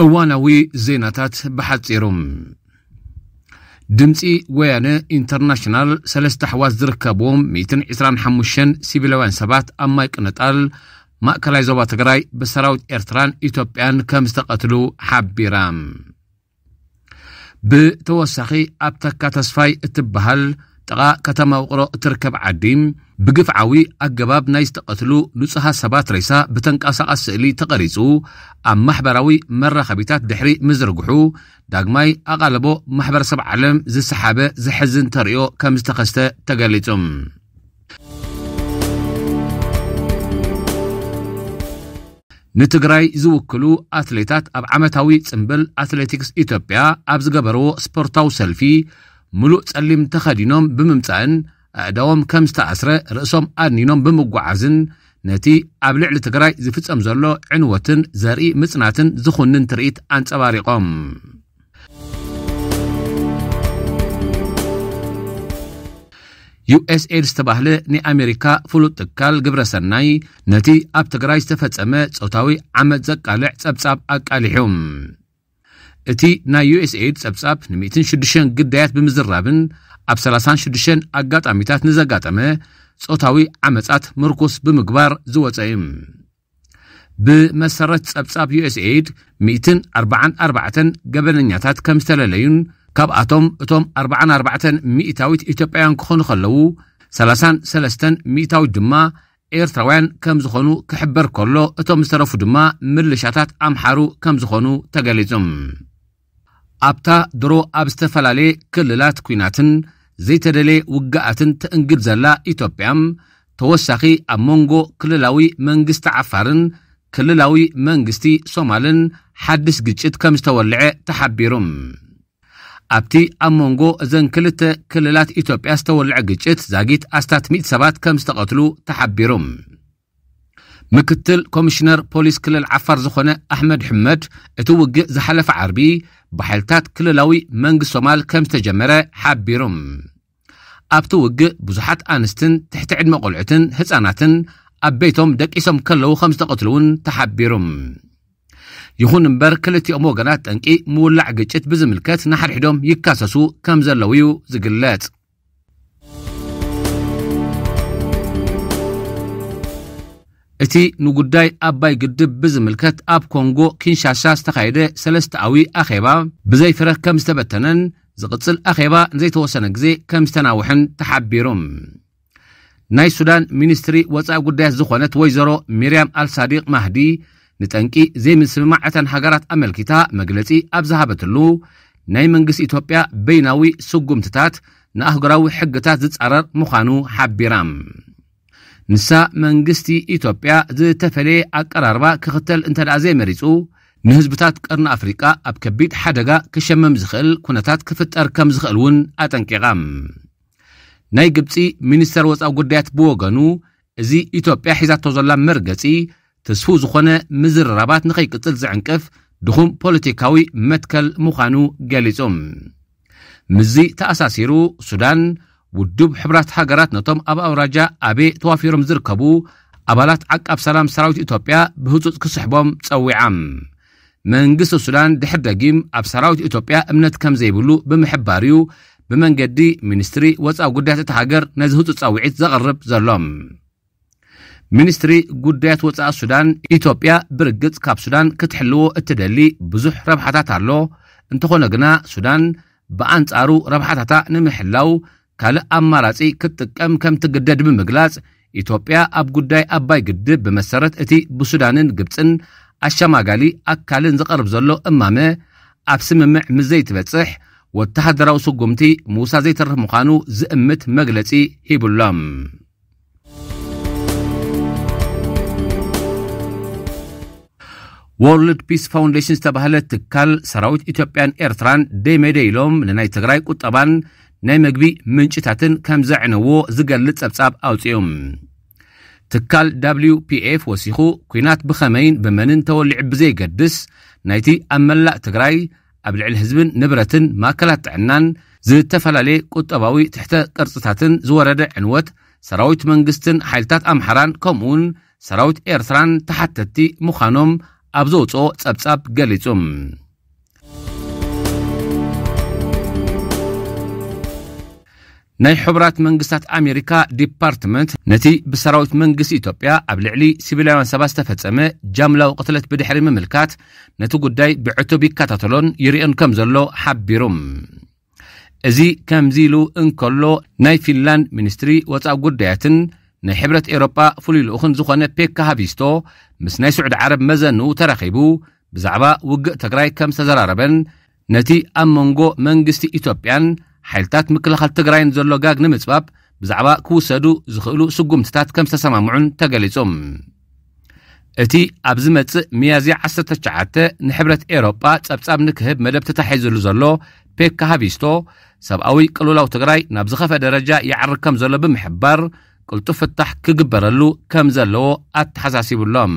እዋናዊ ዜናታት ብሓጺሩ። ድምጺ ወያነ ኢንተርናሽናል፣ ሰለስተ ኣሕዋት ዝርከብዎም ሚእትን ዕስራን ሓሙሽተን ሲቪላውያን ሰባት ኣብ ማይ ቅነጣል ማእከላይ ዞባ ትግራይ ብሰራዊት ኤርትራን ኢትዮጵያን ከም ዝተቐትሉ ሓቢራ። ብተወሳኺ ኣብ ተካ ተስፋይ እትበሃል ጥቓ ከተማ ውቕሮ እትርከብ ዓዲ ብግፍዓዊ ኣገባብ ናይ ዝተቐትሉ ንጹሃት ሰባት ሬሳ ብተንቀሳቓሲ ስእሊ ተቐሪጹ ኣብ ማሕበራዊ መራኸቢታት ድሕሪ ምዝርግሑ፣ ዳግማይ ኣቓልቦ ማሕበረሰብ ዓለም ዝሰሓበ ዘሕዝን ተርእዮ ከም ዝተኸስተ ተገሊጹ። ንትግራይ ዝውክሉ ኣትሌታት ኣብ ዓመታዊ ጽምብል ኣትሌቲክስ ኢትዮጵያ ኣብ ዝገበርዎ ስፖርታዊ ሰልፊ፣ ምሉእ ጸሊም ተኸዲኖም ብምምጻእን ኣእዳዎም ከም ዝተኣስረ ርእሶም ኣድኒኖም ብምጓዓዝን፣ ነቲ ኣብ ልዕሊ ትግራይ ዝፍጸም ዘሎ ዕንወትን ዘርኢ ምጽናትን ዝኹንን ትርኢት ኣንጸባሪቖም። ዩ ኤስ ኤድ ዝተባህለ ናይ ኣሜሪካ ፍሉጥ ትካል ግብረ ሰናይ፣ ነቲ ኣብ ትግራይ ዝተፈጸመ ጾታዊ ዓመጽ ዘቃልዕ ጸብጻብ ኣቃሊሑ። እቲ ናይ ዩ ኤስ ኤድ ጸብጻብ ን ሚእትን ሽዱሽተን ግዳያት ብምዝራብን ኣብ ሰላሳን ሽዱሽተን ኣጋጣሚታት ንዘጋጠመ ጾታዊ ዓመጻት ምርኩስ ብምግባር ዝወጸ እዩ። ብመሰረት ጸብጻብ ዩ ኤስ ኤድ፣ ሚእትን ኣርባዓን ኣርባዕተን ገበነኛታት ከም ዝተለለዩን፣ ካብኣቶም እቶም ኣርባዓን ኣርባዕተን ሚእታዊት ኢትዮጵያውያን ክኾኑ ከለዉ፣ ሰላሳን ሰለስተን ሚእታዊት ድማ ኤርትራውያን ከም ዝኾኑ ክሕበር ከሎ፣ እቶም ዝተረፉ ድማ ምልሻታት ኣምሓሩ ከም ዝኾኑ ተገሊጹ። ኣብታ ድሮ ኣብ ዝተፈላለየ ክልላት ኲናትን ዘይተደለየ ውግኣትን ትእንግድ ዘላ ኢትዮጵያ፣ ተወሳኺ ኣብ መንጎ ክልላዊ መንግስቲ ዓፋርን ክልላዊ መንግስቲ ሶማልን ሓድሽ ግጭት ከም ዝተወልዐ ተሓቢሩ። ኣብቲ ኣብ መንጎ እዘን ክልተ ክልላት ኢትዮጵያ ዝተወልዐ ግጭት ዛጊት ኣስታት ሚእቲ ሰባት ከም ዝተቐትሉ ተሓቢሩ። ምክትል ኮሚሽነር ፖሊስ ክልል ዓፋር ዝኾነ ኣሕመድ ሕመድ፣ እቲ ውግእ ዝሓለፈ ዓርቢ ብሓይልታት ክልላዊ መንግስቲ ሶማል ከም ዝተጀመረ ሓቢሩ። ኣብቲ ውግእ ብዙሓት ኣንስትን ትሕቲ ዕድመ ቆልዑትን ህፃናትን ኣብ ቤቶም ደቂሶም ከለዉ ከም ዝተቐትሉ እውን ተሓቢሩ። ይኹን እምበር፣ ክልቲኦም ወገናት ጠንቂ ምውላዕ ግጭት ብዝምልከት ንሓድሕዶም ይካሰሱ ከም ዘለዉ እዩ ዝግለጽ። እቲ ንጉዳይ ኣባይ ግድብ ብዝምልከት ኣብ ኮንጎ ኪንሻሳ ዝተኻየደ ሰለስተኣዊ ኣኼባ ብዘይ ፍረ ከም ዝተበተነን፣ ዝቕጽል ኣኼባ ንዘይተወሰነ ግዜ ከም ዝተናውሐን ተሓቢሩ። ናይ ሱዳን ሚኒስትሪ ወጻኢ ጉዳያት ዝኾነት ወይዘሮ ሚርያም ኣልሳዲቅ ማህዲ፣ ንጠንቂ ዘይምስምማዕ እተን ሃገራት ኣመልኪታ መግለጺ ኣብ ዝሃበትሉ፣ ናይ መንግስቲ ኢትዮጵያ በይናዊ ስጉምትታት ንኣህጉራዊ ሕግታት ዝጻረር ምዃኑ ሓቢራ። ንሳ፣ መንግስቲ ኢትዮጵያ ዝተፈለየ ኣቀራርባ ክኽተል እንተ ደኣ ዘይመሪጹ፣ ንህዝብታት ቀርኒ ኣፍሪቃ ኣብ ከቢድ ሓደጋ ክሸመም ዝኽእል ኩነታት ክፍጠር ከም ዝኽእል እውን ኣጠንቂቓ። ናይ ግብጺ ሚኒስተር ወጻኢ ጉዳያት ብወገኑ፣ እዚ ኢትዮጵያ ሒዛቶ ዘላ መርገጺ፣ ትስፉው ዝኾነ ምዝርራባት ንኸይቅጽል ዝዕንቅፍ ድኹም ፖለቲካዊ መትከል ምዃኑ ገሊጹ። ምስዚ ተኣሳሲሩ፣ ሱዳን፣ ውድብ ሕቡራት ሃገራት ነቶም ኣብ ኣውራጃ ኣቤ ተዋፊሮም ዝርከቡ ኣባላት ዓቃብ ሰላም ሰራዊት ኢትዮጵያ ብህጹጽ ክስሕቦም ጸዊዓ። መንግስቲ ሱዳን ድሕር ደጊም ኣብ ሰራዊት ኢትዮጵያ እምነት ከም ዘይብሉ ብምሕባር እዩ ብመንገዲ ሚኒስትሪ ወጻኢ ጉዳያት እታ ሃገር ነዚ ህጹጽ ጻውዒት ዘቕርብ ዘሎ። ሚኒስትሪ ጉዳያት ወጻኢ ሱዳን፣ ኢትዮጵያ ብርግጽ ካብ ሱዳን ክትሕልዎ እትደሊ ብዙሕ ረብሓታት ኣሎ። እንተኾነ ግና፣ ሱዳን ብኣንጻሩ ረብሓታታ ንምሕላው ካልእ ኣማራጺ ክትጥቀም ከም ትግደድ ብምግላጽ፣ ኢትዮጵያ ኣብ ጉዳይ ኣባይ ግድብ ብመሰረት እቲ ብሱዳንን ግብጽን ኣሸማጋሊ ኣካልን ዝቐርብ ዘሎ እማመ ኣብ ስምምዕ ምስ ዘይትበጽሕ፣ ወተሃደራዊ ስጉምቲ ምውሳድ ዘይተርፍ ምዃኑ ዝእምት መግለጺ ሂቡሎም። ወርልድ ፒስ ፋውንዴሽን ዝተባህለ ትካል፣ ሰራዊት ኢትዮጵያን ኤርትራን ደይመደይ ኢሎም ንናይ ትግራይ ቁጠባን ናይ መግቢ ምንጭታትን ከም ዘዕነዎ ዝገልጽ ጸብጻብ ኣውጺኡ። ትካል ደብሊው ፒ ኤፍ ወሲኹ፣ ኲናት ብኸመይን ብመንን ተወሊዑ ብዘይገድስ፣ ናይቲ ኣብ መላእ ትግራይ ኣብ ልዕሊ ህዝብን ንብረትን ማእከላት ጥዕናን ዝተፈላለየ ቁጠባዊ ትሕተ ቅርጽታትን ዝወረደ ዕንወት፣ ሰራዊት መንግስትን ሓይልታት ኣምሓራን ከምኡውን ሰራዊት ኤርትራን ተሓተትቲ ምዃኖም ኣብ ዘውፅኦ ጸብጻብ ገሊጹ። ናይ ሕቡራት መንግስታት ኣሜሪካ ዲፓርትመንት ነቲ ብሰራዊት መንግስቲ ኢትዮጵያ ኣብ ልዕሊ ሲቪላውያን ሰባት ዝተፈጸመ ጃምላዊ ቅትለት ብድሕሪ ምምልካት፣ ነቲ ጉዳይ ብዕቱብ ይከታተሎን ይርእዮን ከም ዘሎ ሓቢሩ። እዚ ከምዚ ኢሉ እንከሎ፣ ናይ ፊንላንድ ሚኒስትሪ ወጻኢ ጉዳያትን ናይ ሕብረት ኤውሮጳ ፍሉይ ልኡኽን ዝኾነ ፔካ ሃቪስቶ ምስ ናይ ስዑዲ ዓረብ መዘንኡ ተራኺቡ ብዛዕባ ውግእ ትግራይ ከም ዝተዘራረበን ነቲ ኣብ መንጎ መንግስቲ ኢትዮጵያን ሓይልታት ምክልኻል ትግራይን ዘሎ ጋግ ንምጽባብ ብዛዕባ ክውሰዱ ዝኽእሉ ስጉምትታት ከም ዝተሰማምዑን ተገሊጹ። እቲ ኣብ ዝመጽእ ሚያዝያ ዓሰርተ ትሽዓተ ንሕብረት ኤውሮጳ ጸብጻብ ንክህብ መደብ ተታሒዙሉ ዘሎ ፔካ ሃቪስቶ፣ ሰብኣዊ ቅልውላው ትግራይ ናብ ዝኸፈ ደረጃ ይዓርግ ከም ዘሎ ብምሕባር፣ ቅልጡፍ ፍታሕ ክግበረሉ ከም ዘለዎ ኣተሓሳሲቡሎም።